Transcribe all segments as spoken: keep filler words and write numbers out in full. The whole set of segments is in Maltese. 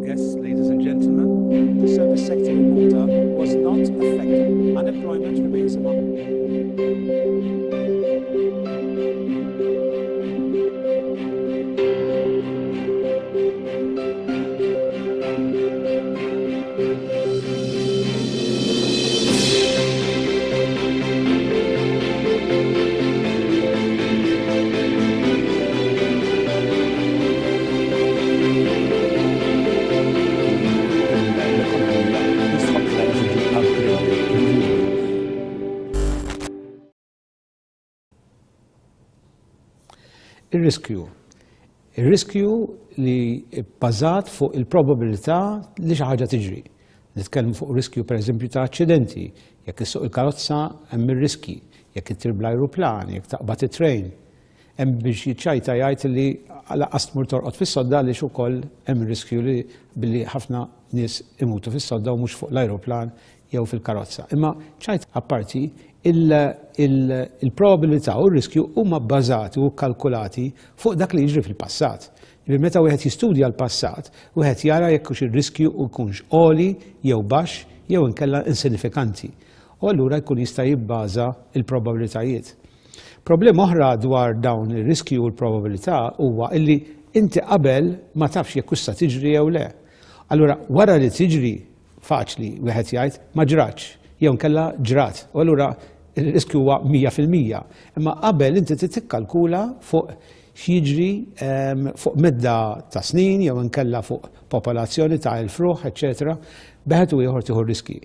guests, ladies and gentlemen, the service sector in Malta was not affected. Unemployment remains among L-ekonomija jistħoqqilha li tiġi upgraded fil-futur. Ir-riskju. Ir-riskju li bbażat fuq il-probabilità li xi ħaġa tiġri. Nitkellmu fuq riskju pereżempju ta' aċċidenti, jekk issuq il-karozza hemm ir-riski, jekk ittir bl-ajruplan, jekk taqbad it-train. Hemm biex jiċċajta jgħid li lanqas tmur torqod fis-sodda għaliex ukoll hemm riskju li billi ħafna nies imutu fis-sodda u mhux fuq l-ajruplan jew fil-karozza. Imma ċajt apparti, il-probabilità u r-riskju huma bbażati u kalkulati fuq dak li jiġri fil-passat. Ġifieri meta wieħed jistudja l-passat, wieħed jara jekk hux ir-riskju jkunx għoli jew baxx jew inkella insinifikanti. U allura jkun jista' jibbaża l-probabilitajiet. Problema oħra dwar dawn ir-riskju u l-probabilità huwa illi inti qabel ma tafx jekk hux sa tiġri jew le. Allura wara li tiġri faċli wieħed jgħid ma ġratx jew inkella ġrat. U allura il-riskju huwa mija fil-mija. Imma qabel inti trid tikkalkula fuq x'jiġri, ehm, fuq medda ta' snin jew inkella fuq popolazzjoni ta' elf ruħ, eċċetera, beħed u ieħor tieħu riski.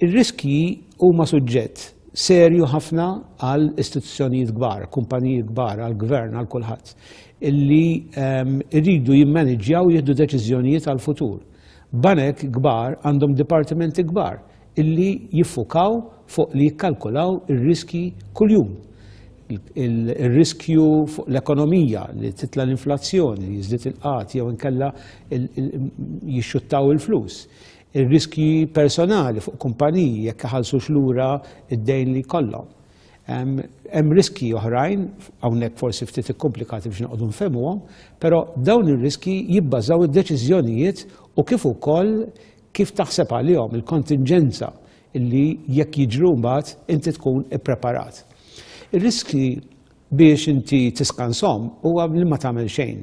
Ir-riski huma suġġett serju ħafna għal istituzzjonijiet kbar, kumpaniji kbar, għal gvern, għal kulħadd, illi, ehm, irridu jimmaniġġjaw jieħdu deċiżjonijiet għal futur. Banek kbar għandhom dipartimenti kbar illi jiffukaw fuq li jikkalkulaw ir-riski kuljum. Il-riskju fuq l-ekonomija, li titla l-inflazzjoni, li jiżdied il-qgħad jew inkella il-, il-, jixxuttaw il-flus. Ir-riskji personali fuq kumpaniji jekk iħallsux lura id-dejn li jkollhom. Hemm riski oħrajn, hawnhekk forsi ftit ikkomplikati biex noqogħdu nfehmuhom, però dawn ir-riski jibbażaw id-deċiżjonijiet u kif ukoll kif taħseb għalihom il-kontinġenza illi jekk jiġru mbagħad inti tkun ippreparat. Ir-riski biex inti tiskanshom huwa li ma tagħmel xejn.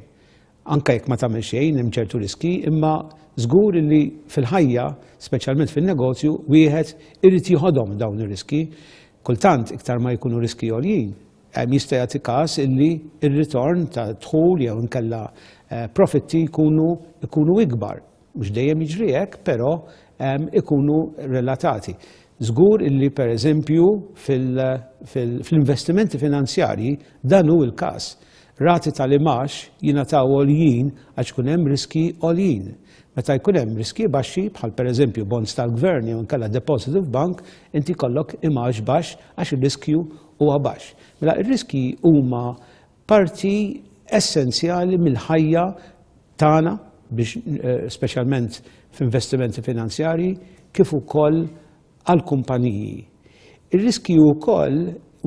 Anke jekk ma tagħmel xejn hemm ċertu riski, imma żgur li fil-ħajja, speċjalment fin-negozju, wieħed irid jieħodhom dawn ir-riski. Kultant iktar ma jkunu riski għoljin, hemm jista' jagħti każ illi r-ritorn ta' dħul jew inkella, eh, profitti jkunu, jkunu ikbar. Mhux dejjem jiġri hekk, però, ehm, ikunu relatati. Żgur illi pereżempju fil-, fil-, fl-investimenti finanzjarji dan hu l-każ. Rati tal-imax jingħataw għoljin għax ikun hemm riski għoljin. Meta jkun hemm riski baxxi, bħal pereżempju bonds tal-gvern jew inkella deposit f'bank, inti jkollok imax baxx għax ir-riskju huwa baxx. Mela ir-riski huma parti essenzjali mill-ħajja tagħna biex, eh, speċjalment f'investimenti finanzjarji kif ukoll għall-kumpaniji. Ir-riski wkoll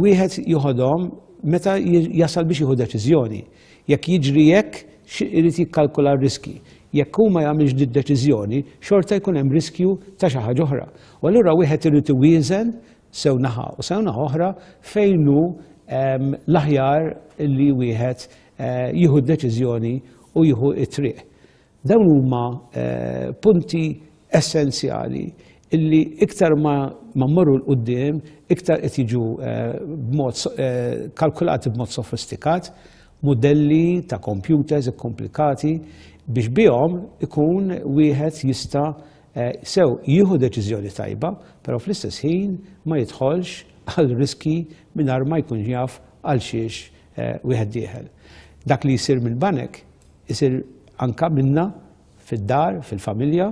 wieħed joħodhom meta j-, jasal biex jieħu deċiżjoni. Jekk jiġri hekk, xi-, irid jikkalkula r-riski. Jekk hu ma jagħmilx din id-deċiżjoni, xorta jkun hemm riskju ta' xi ħaġa oħra. U allura wieħed irid iwieżen sew naħa u sew naħa oħra fejn hu, ehm, l-aħjar li wieħed, eh, jieħu d-deċiżjoni u jieħu t-triq. Dawn huma, eh, punti essenzjali illi iktar ma, ma mmorru 'l quddiem, iktar qed jiġu, eh, b'mod so-, eh, kalkulati b'mod sofistikat, modelli ta' computers ikkomplikati biex bihom ikun wieħed jista', eh, sew jieħu deċiżjoni tajba, però fl-istess ħin ma jidħolx għal riski mingħajr ma jkun jaf għal xiex, eh, wieħed dieħel. Dak li jsir mill-banek isir anka minna fid-dar, fil-familja,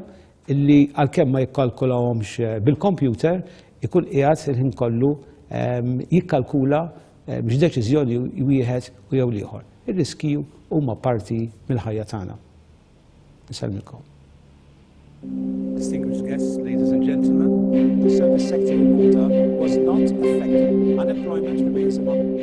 illi għalkemm ma jikkalkulahomx, eh, bil-computer, ikun qiegħed il-ħin kollu, ehm, jikkalkula, eh, biex deċiżjoni wieħed u jew l-ieħor. Ir-riski huma parti mill-ħajja tagħna. Insellmilkom. Distinguished guests, ladies and gentlemen, the service sector in Malta was not affected. Unemployment remains among